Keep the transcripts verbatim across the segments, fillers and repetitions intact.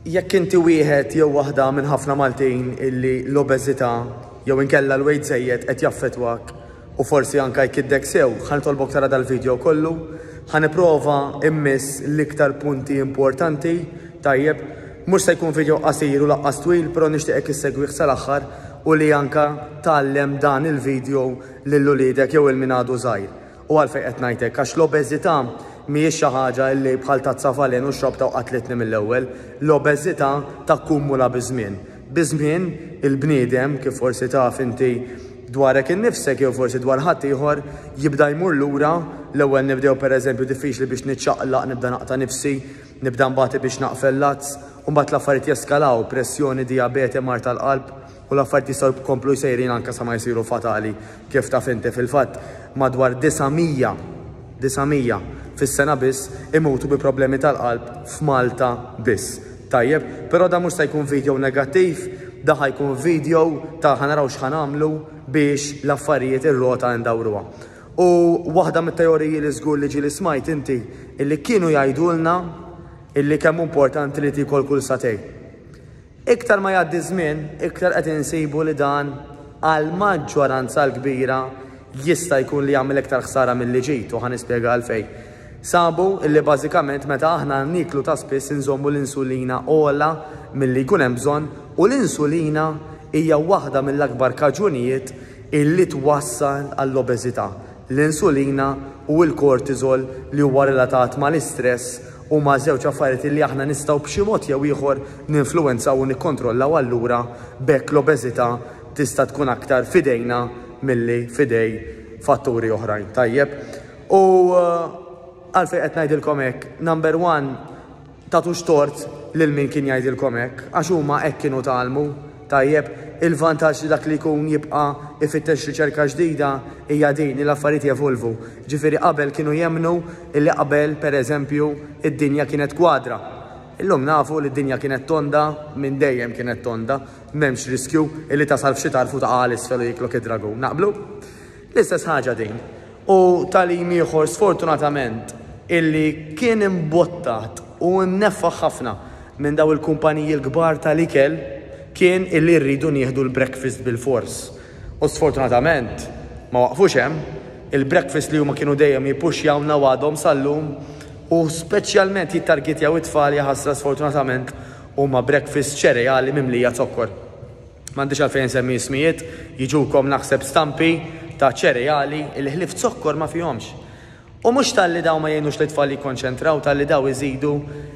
Jekk inti wieħed jew waħda minn ħafna Maltin illi l-obeżità jew inkella l-weight żejjed qed jaffettwak u forsi anka jkiddek sew, ħa nitolbok tara dal-video kollu, ħa nipprova immiss l-iktar punti importanti, tajjeb, mhux se jkun video qasir u lanqas twil, però nixtieqek issegwih sal-aħħar u li anka tgħallem dan il-video lil uliedek jew lil min għadu żgħir. U għalfejn qed ngħidlek, għax l-obeżità mhijiex xi ħaġa li bħal tazza falen u xrobta u qatlitni mill-ewwel. L-obeżità takkumula biż-żmien. Biż-żmien il-bniedem, kif forsi taf inti dwarek innifsek jew forsi dwar ħadd ieħor, jibda jmur lura. L-ewwel nibdew, pereżempju, diffiċli biex niċċaqlaq, nibda naqta' nifsi, nibda nbati biex naqfel lazz, u mbagħad l-affarijiet jeskalaw, pressjoni, dijabete, mard tal-qalb, u l-affarijiet jistgħu jkomplu sejrin anke sa ma jsiru fatali, kif taf inti. Fil-fatt madwar disa' mija, disa' mija fis-sena biss imutu bi problemi tal-qalb f'Malta biss. Tajjeb, però da mhux se jkun video negattiv, da ħa jkun video ta' ħa naraw x'ħa nagħmlu biex l-affarijiet, ir-rota ndawruha. U waħda mit-teoriji li żgur li ġieli smajt inti, illi kienu jgħidulna illi kemm importanti li tikol kull sagħtejn. Iktar ma jgħaddi żmien, iktar qed insibu li dan għal maġġoranza l-kbira jista' jkun li jagħmel iktar ħsara milli ġid, u ħa nispjega għalfejn. Sabu illi bażikament meta aħna niklu ta' spiss inżommu l-insulina ogħla milli jkun hemm bżonn, u l-insulina hija waħda mill-akbar kaġunijiet illi twassal għall-obeżità. L-insulina u l-kortisol li huwa relatat mal-istress huma żewġ affarijiet li aħna nistgħu b'xi mod jew ieħor ninfluwenzaw u nikkontrollaw, allura b'hekk l-obeżità tista' tkun aktar f'idejna milli f'idej fatturi oħrajn. Tajjeb. U uh, għalfejn qed ngħidilkom hekk, number one, tagħtux tort lil min kien jgħidilkom hekk, għax huma hekk kienu tgħallmu. Tajjeb, il-vantaġġ li dak li jkun jibqa' ifittex riċerka ġdida hija din li l-affarijiet jevolvu. Ġifieri qabel kienu jemnu illi qabel, pereżempju, id-dinja kienet kwadra. Illum nafu li d-dinja kienet tonda, minn dejjem kienet tonda, m'hemmx riskju illi tasal f'xi tarf u taqa' 'l isfel u jiklok id-dragun. Naqblu? L-istess ħaġa din. U tagħlim ieħor, sfortunatament, illi kien imbottat u mneffaħ ħafna minn daw il-kumpaniji l-kbar tal-ikel kien illi rridu nieħdu l-breakfast bil-fors. U sfortunatament ma waqfux hemm, il-breakfast li huma kienu dejjem jippuxjawna għadhom sal-lum u speċjalment jittargetjaw it-tfal, jaħasra, sfortunatament huma breakfast ċereali mimlija zokkor. M'għandix għalfejn semmi ismijiet, jiġukom naħseb stampi ta' ċereali il ħlief zokkor ma fihomx. U mhux talli daw ma jgħinux li tfal jikkonċentraw, talli daw iżidu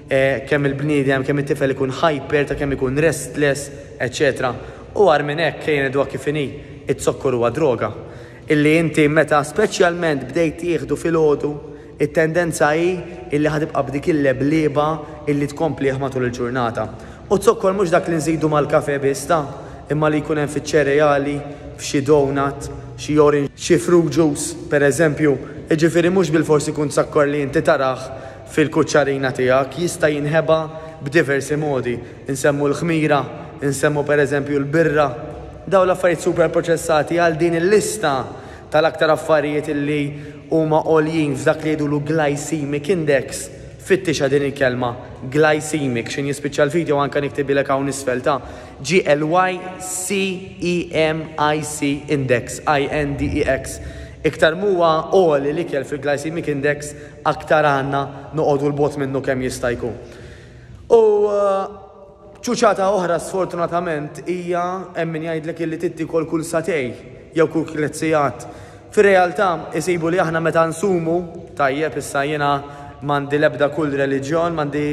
eh, kemm il-bniedem, kemm it-tifel ikun hyper, ta' kemm ikun restless, eċċetera. U agħar minn hekk, kejn id kif inhi, it-zokkor huwa droga. Illi inti meta speċjalment bdejt tieħdu filgħodu, it-tendenza hi illi ħa tibqa' b'dik il-leblieba illi tkomplih matul il-ġurnata. U zokkor mhux dak li nżidu mal-kafe biss ta', imma li jkun hemm fiċ-ċereali, f'xi donut, xi orange, xi fruit juice, per eżempju. Ġifieri mhux bil-forsi kun zokkor li inti tarah fil-kuċċarina tiegħek, jista' jinħeba b'diversi modi. Insemmu l-ħmira, insemmu per eżempju l-birra, daw l-affarijiet super proċessati. Għal din il-lista tal-aktar affarijiet illi huma għoljin f'dak li jgħidulu glycemic index. Fittixa din il-kelma glycemic, x'ħin jispiċċa l-video anka niktibilek hawn isfel ta' G L Y C E M I C index, I N D E X. Iktar m'huwa għoli l-ikel fil-glycemic index, aktar għandna noqogħdu 'l bogħod minnu kemm jista' jkun. U uh, ċuċata oħra, sfortunatament, hija hemm min jgħidlek illi trid tiekol kull sagħtejn jew kull tliet sigħat. Fir-realtà isibu li aħna meta nsumu, tajjeb, issa jiena m'għandi lebda kull reliġjon, m'għandi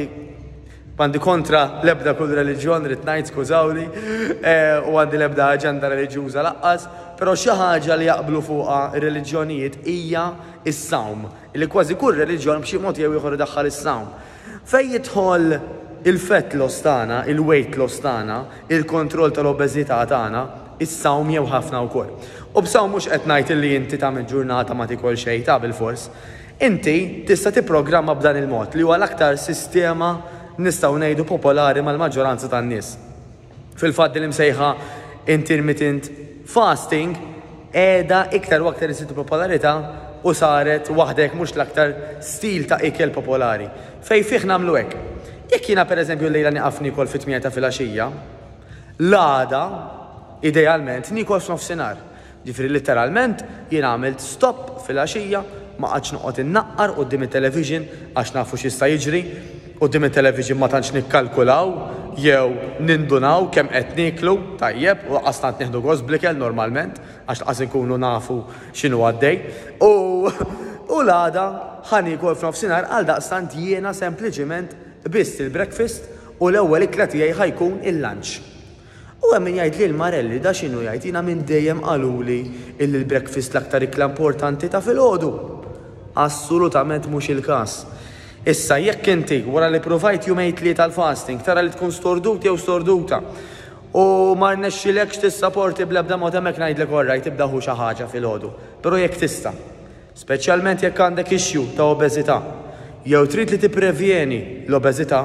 m'għandi kontra lebda kull reliġjon, rrid ngħid, skużawni, eh, u għandi lebda aġenda reliġjuża lanqas, però xi ħaġa li jaqblu fuqha ir-reliġjonijiet hija is-sawm, li kważi kull reliġjon b'xi mod jew ieħor idaħħal is-sawm. Fej jidħol il-fat loss tagħna, il-weight loss tagħna, il-kontroll tal-obeżità tagħna, is-sawm jew ħafna wkoll. U b'sawm mhux qed ngħid li inti tagħmel ġurnata ma tikol xejn ta' bil-fors. Inti tista' tipprogramma b'dan il-mod li huwa l-aktar sistema, nistgħu ngħidu, popolari mal-maġġoranza tan-nies. Fil-fatt li msejħa intermittent fasting qiegħda iktar u aktar isitu popolarità u saret waħdek mhux l-aktar stil ta' ikel popolari. Fej fih nagħmlu hekk. Jekk jiena pereżempju llejla nieqaf niekol fit-tmienja ta' filgħaxija, l-għada idealment niekol f'nofsinhar. Ġifieri letteralment jiena għamilt stop filgħaxija, ma qgħadx noqgħod innaqqar quddiem it-television għax nafu x'jista' jiġri. Quddiem it-television ma tantx nikkalkulaw jew nindunaw kemm qed nieklu, tajjeb, u lanqas tant nieħdu gost bl-ikel normalment għax lanqas inkunu nafu x'inhu għaddej. U, u l-għada ħa niekol f'nofsinhar, għal daqstant jiena sempliċiment biss il-breakfast u l-ewwel ikla tiegħi ħa jkun il-lunch. U hemm min jgħid li l-Marelli da x'inhu jgħid, jiena minn dejjem qaluli illi l-breakfast l-aktar ikla importanti ta' filgħodu. Assolutament mhux il-każ. Issa jekk inti wara li provajt jumejn tlieta tal-fasting tara li tkun stordut jew storduta u ma rnexxilekx tissaporti bl-ebda mod, hemmhekk ngħidlek orrajt, tibda ħu xi ħaġa filgħodu. Però jekk tista', speċjalment jekk għandek issue ta' obeżità jew trid li tipprevjeni l-obeżità,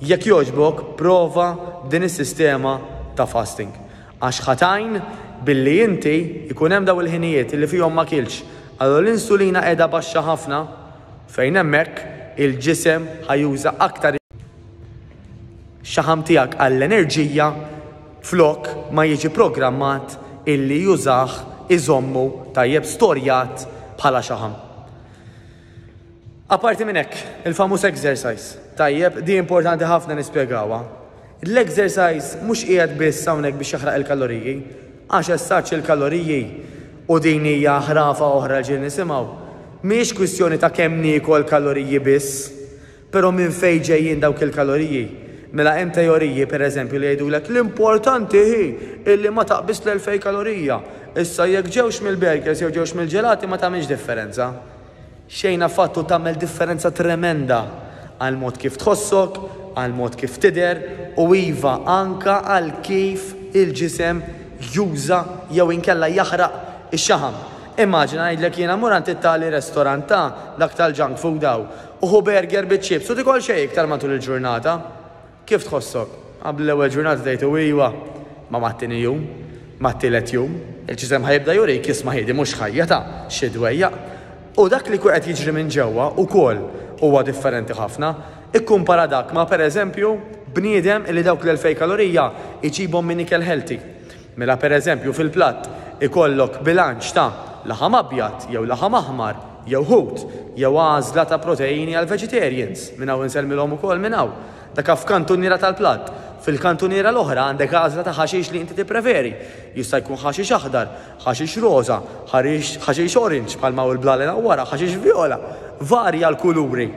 jekk jogħġbok prova din is-sistema ta' fasting. Għax ħa tgħin billi inti jkun hemm daw il-ħinijiet li fihom ma kilx. Allura l-insulina qiegħda baxxa ħafna, fejn hemmhekk il-ġisem ħa juża aktar xaħam tiegħek għall-enerġija flok ma jiġi programmat illi jużah iżommu tajjeb storjat bħala xaħam. Aparti minn hekk, il-famuż exercise. Tajjeb, di importanti ħafna nispjegawha. L-exercise mhux qiegħed biss hawnhekk biex jaħraq il-kaloriji, għax essaċ il-kaloriji u din hija ħrafa oħra ġieli nisimgħu. Mhijiex kwistjoni ta' kemm niekol kaloriji biss, però minn fejn ġejjin dawk il-kaloriji. Mela hemm teoriji pereżempju li jgħidulek l-importanti hi illi ma taqbiż l-elfejn kalorija. Issa jekk ġewx mill-burgers jew ġewx mill-ġelati ma tagħmilx differenza. Xejn affattu, tagħmel differenza tremenda għal mod kif tħossok, għal mod kif tidher u iva anka għal kif il-ġisem juża jew inkella jaħraq ix-xaħam. Immaġina, ngħidlek jiena, mur għand it-tali restorant ta' dak tal-junk food daw u ħu burger biċ-chips u tikol xejn iktar matul il-ġurnata. Kif tħossok? Qabel l-ewwel ġurnata tgħid iwa, ma mat-tieni jum, mat-tielet jum, il-ġisem ħa jibda jurik, "Isma' ħiedi, mhux ħajja ta' xi dwejjaq." U dak li qed jiġri minn ġewwa ukoll huwa differenti ħafna. Ikkumpara dak ma' pereżempju bniedem li dawk l-elfejn kalorija iġibhom minn ikel healthy. Mela pereżempju fil-platt ikollok bilanċ ta' laħam abjad jew laħam aħmar jew ħut jew għażla ta' proteini għal vegetarians. Minn hawn insellmilhom ukoll minn hawn. Dak f'kantuniera tal-platt. Fil-kantuniera l-oħra għandek għażla ta' ħaxix li inti tippreferi. Jista' jkun ħaxix aħdar, ħaxix roża, ħaxix orange bħalma hu l-blalen wara, ħaxix viola. Varja l-kuluri.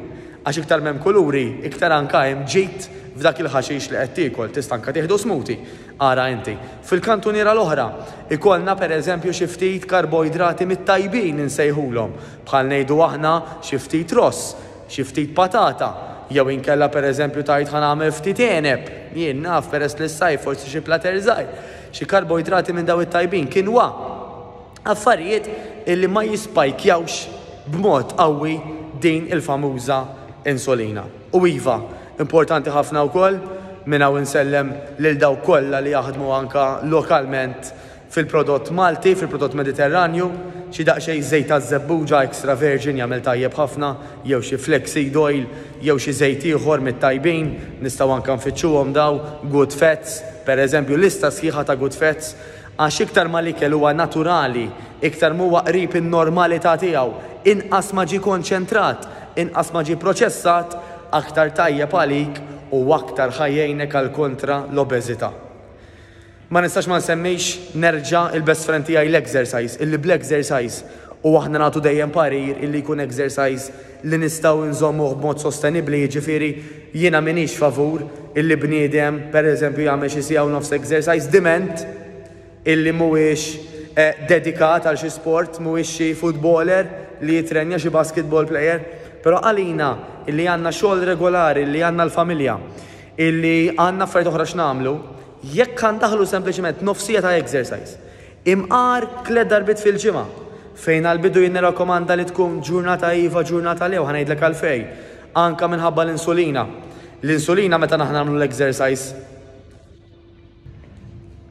Għax iktar m'hemm kuluri, iktar anka hemm ġid f'dak il-ħaxix li qed tiekol, tista' anka tieħdu smoothie. Ara inti. Fil-kantuniera l-oħra, ikollna pereżempju xi ftit karboidrati mit-tajbin insejħulhom, bħal ngħidu aħna xi ftit ross, xi ftit patata, jew inkella pereżempju tajt ħa nagħmel ftit għeneb, jien naf, peress li s-sajf forsi xi plater żgħir, xi karboidrati minn daw it-tajbin, quinoa. Affarijiet illi ma jispajkjawx b'mod qawwi din il-famuża insulina. U iva, importanti ħafna wkoll, minn hawn insellem lil dawk kollha li jaħdmu anka lokalment fil-prodott Malti, fil-prodott Mediterranju, xi daqsxejn żejt taż-żebbuġa extra virgin jagħmel tajjeb ħafna, jew xi flaxseed oil, jew xi żejt ieħor mit-tajbin, nistgħu anka nfittxuhom daw, good fats, per eżempju lista sħiħa ta' good fats, għax iktar ma l-ikel huwa naturali, iktar huwa qrib in-normalità tiegħu, inqas ma ġie konċentrat, inqas ma ġie proċessat, aktar tajjeb għalik u aktar ħa jgħinek għal kontra l-obeżità. Ma nistax ma nsemmix nerġa' il-best friend tiegħi l-exercise, illi bl-exercise u aħna nagħtu dejjem parir illi jkun exercise li nistgħu nżommuh b'mod sostenibbli, jiġifieri jiena m'iniex favur illi bniedem pereżempju jagħmel xi siegħa u nofs exercise diment illi mhuwiex eh, dedikat għal xi sport, mhuwiex xi footballer li jitrenja, xi basketball player, però għalina illi għandna xogħol regolari, illi għandna l-familja, illi għandna affarijiet oħra x'nagħmlu, jekk ħa ndaħħlu sempliċement nofs siegħa ta' exercise, imqar tliet darbiet fil-ġimgħa, fejn għal-bidu jien nirrakkomanda li tkun ġurnata iva, ġurnata le, u ħa ngħidlek għalfejn, anka minħabba l-insulina. L-insulina meta naħna nagħmlu l-exercise,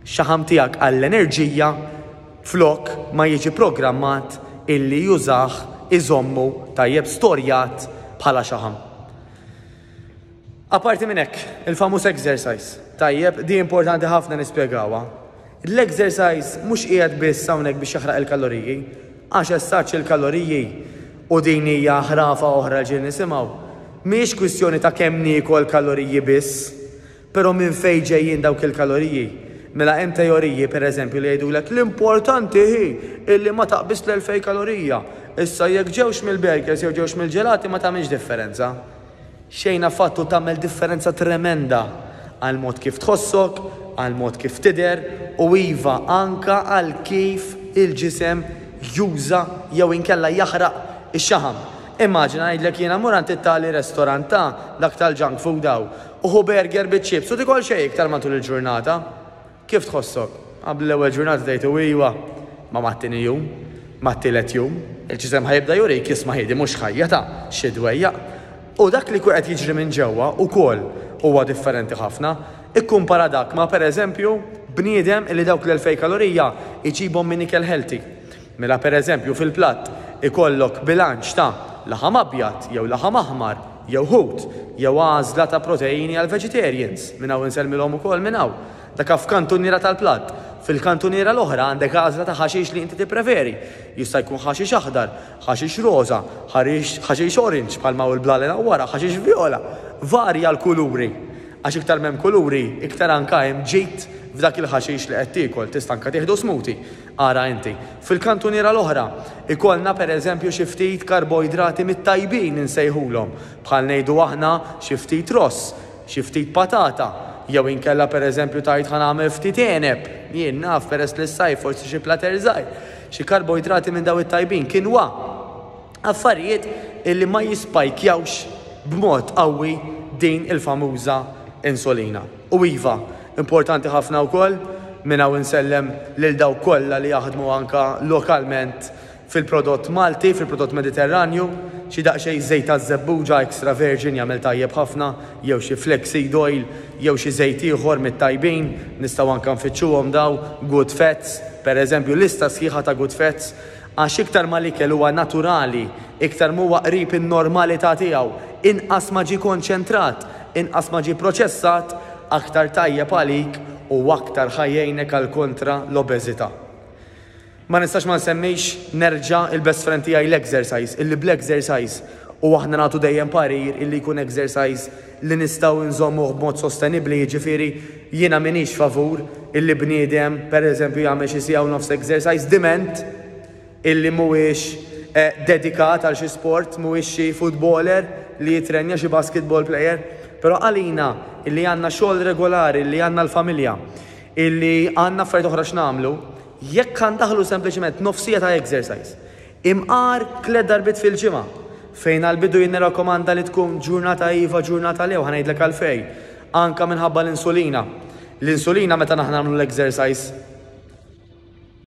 xaħam tiegħek għall-enerġija flok ma jiġi programmat illi jużah iżommu tajjeb storjat bħala xaħam. Aparti minn hekk, il-famuż exercise. Tajjeb, di importanti ħafna nispjegawha. L-exercise mhux qiegħed biss hawnhekk biex jaħraq il-kaloriji, għax essaċ il-kaloriji u din hija ħrafa oħra ġieli nisimgħu. Mhijiex kwistjoni ta' kemm niekol kaloriji biss, però minn fejn ġejjin dawk il-kaloriji. Mela hemm teoriji, pereżempju, li jgħidulek l-importanti hi illi ma taqbiż l-elfejn kalorija. Issa jekk ġewx mill-burgers jew ġewx mill-ġelati ma tagħmilx differenza. Xejn affattu, tagħmel differenza tremenda għal mod kif tħossok, għal mod kif tidher u iva, anka għal kif il-ġisem juża jew inkella jaħraq ix-xaħam. Immaġina, ngħidlek jiena, mur għand it-tali restorant ta' dak tal-junk food daw u ħu burger biċ-chips u tikol xejn iktar matul il-ġurnata. Kif tħossok? Qabel l-ewwel ġurnata tgħid iwa, ma mat-tieni jum, mat-tielet jum, il-ġisem ħa jibda jurik, "Isma' ħidi, mhux ħajja ta' xi dwejjaq." U dak li qed jiġri minn ġewwa ukoll huwa differenti ħafna. Ikkumpara dak ma' pereżempju bniedem li dawk l-elfejn kalorija iġibhom minn ikel healthy. Mela pereżempju fil-platt ikollok bilanċ ta' laħam abjad jew laħam aħmar jew ħut jew għażla ta' proteini għal vegetarians. Minn hawn insellmilhom ukoll minn hawn. Dak f'kantuniera tal-platt. Fil-kantuniera l-oħra għandek għażla ta' ħaxix li inti tippreferi. Jista' jkun ħaxix aħdar, ħaxix roża, ħaxix orange bħalma u l-blalen wara, ħaxix viola. Varja l-kuluri. Għax iktar m'hemm kuluri, iktar anka hemm ġid f'dak il-ħaxix li qed tiekol, tista' anka tieħdu smoothie. Ara inti. Fil-kantuniera l-oħra, ikollna pereżempju xi ftit karboidrati mit-tajbin insejħulhom, bħal ngħidu aħna xi ftit ross, xi ftit patata, jew inkella pereżempju tajt ħa nagħmel ftit għeneb, jien naf, peress li s-sajf forsi xi plater żgħir, xi karboidrati minn daw it-tajbin, quinoa. Affarijiet illi ma jispajkjawx b'mod qawwi din il-famuża insulina. U iva, importanti ħafna wkoll, minn hawn insellem lil dawk kollha li jaħdmu anka lokalment fil-prodott Malti, fil-prodott Mediterranju, xi daqsxejn żejt ta' żebbuġa extra virgin jagħmel tajjeb ħafna, jew xi flaxseed oil, jew xi żejt ieħor mit-tajbin, nistgħu anka nfittxuhom daw, good fats, per eżempju, lista sħiħa ta' good fats, għax iktar ma l-ikel huwa naturali, iktar m'huwa qrib in-normalità tiegħu, inqas ma ġie konċentrat, inqas ma ġie proċessat, aktar tajjeb għalik u aktar ħa jgħinek għal kontra l-obeżità. Ma nistax ma nsemmix nerġa' il-best friend tiegħi, l-exercise, illi bl-exercise u aħna nagħtu dejjem parir illi jkun exercise li nistgħu nżommuh b'mod sostenibbli, jiġifieri jiena m'iniex favur illi bniedem pereżempju jagħmel xi siegħa u nofs exercise diment illi mhuwiex eh, dedikat għal xi sport, mhuwiex xi footballer li jitrenja, xi basketball player, però għalina illi għandna xogħol regolari, illi għandna l-familja, illi għandna affarijiet oħra x'nagħmlu, jekk ħa ndaħħlu sempliċement nofs siegħa ta' exercise, imqar tliet darbiet fil-ġimgħa, fejn għal-bidu jien nirrakkomanda li tkun ġurnata iva, ġurnata le, u ħa ngħidlek għalfejn, anka minħabba l-insulina. L-insulina meta naħna nagħmlu l-exercise